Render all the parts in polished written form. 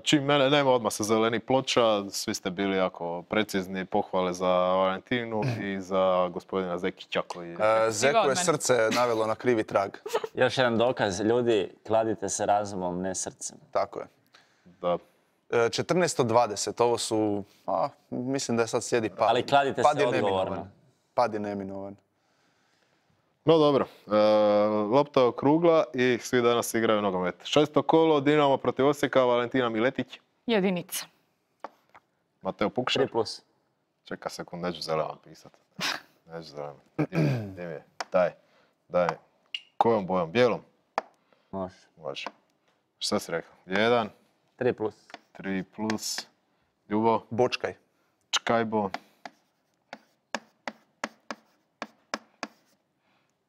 Čim mene nema, odmah se zeleni ploča. Svi ste bili jako precizni, pohvale za Valentinu i za gospodina Zekića koji je... Zeku je srce navelo na krivi trag. Još jedan dokaz, ljudi, kladite se razumom, ne srcem. Tako je. Da. 14:20, ovo su, mislim da je sad slijedi pad. Ali kladite Pad se je odgovorno. neminovan. Pad je neminovan. No dobro, lopta je okrugla i svi danas igraju nogomet. 6. kolo, Dinamo protiv Osijeka, Valentina Miletić. Jedinica. Mateo Pukšar. 3+. Čeka sekund, neću zeleno pisat. Neću zeleno. Gdje mi je? Daj. Kojom bojom? Bijelom? Može. Može. Šta si rekao? 1. 3+. 3+. Ljubo? Bočkaj. Čkajbo.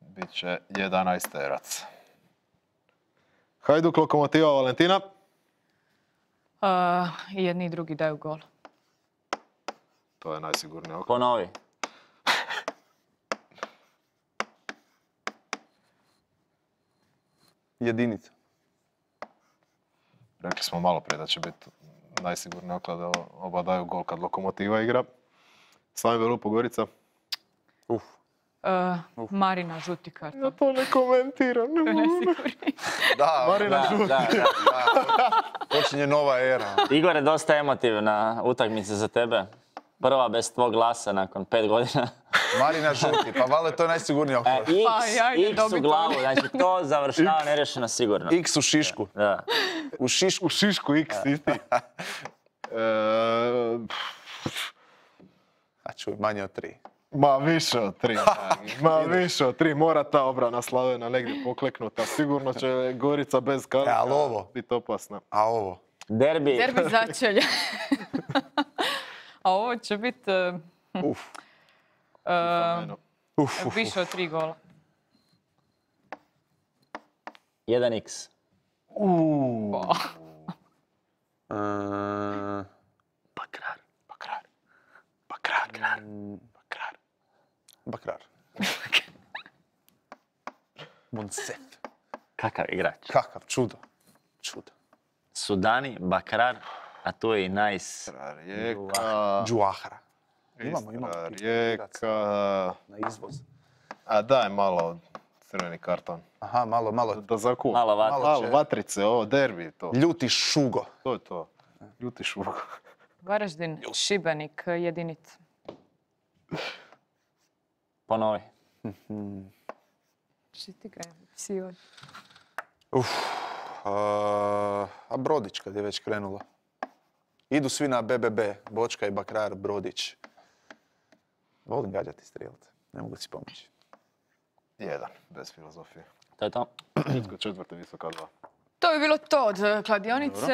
Biće 11-terac. Hajduk, Lokomotiva, Valentina. I jedni i drugi daju gol. To je najsigurnije oko. Ponovi. Jedinica. Rekli smo malo prije da će biti najsigurnije oko da oba daju gol kad Lokomotiva igra. Slavim Belupo, Gorica. Marina, žuti karton. Ja to ne komentiram. To je najsigurniji. Da, Marina žuti. počinje nova era. Igore, dosta emotivna utakmica za tebe. Prva bez tvog glasa nakon 5 godina. Marina žuti, pa valjda to je najsigurnije oko. X u glavu, znači to završava nerješeno sigurno. X u šišku. Da. U šišku. U šišku X, isti. A čuj, manje od 3. Ma više od 3. Ma više od 3. Mora ta obrana Slavena negdje pokleknuta. Sigurno će Gorica bez Kalika ali ovo? biti opasna. A ovo? Derbi. Derbi začelja. A ovo će biti više od 3 gola. 1x. Bakrar. Monsef. Kakav igrač. Kakav čudo. Čudo. Sudani, Bakrar, a tu je i Nice. Rijeka. Džuahara. Imamo. Rijeka. Na izvoz. A daj malo crveni karton. Aha, malo. Da zakup. Malo vatre. Malo vatrice, ovo derbi to. Ljuti šugo. To je to. Ljuti šugo. Varaždin, Šibenik, jedinica. Ponovi. Što ti kaj? Psi ovdje. A Brodić kad je već krenulo. Idu svi na BBB. Bočka i Bakrar, Brodić. Volim gađati strijelce. Ne mogu si pomoći. 1, bez filozofije. To je to. Četvrti, visoka 2. To bi bilo to od kladionice.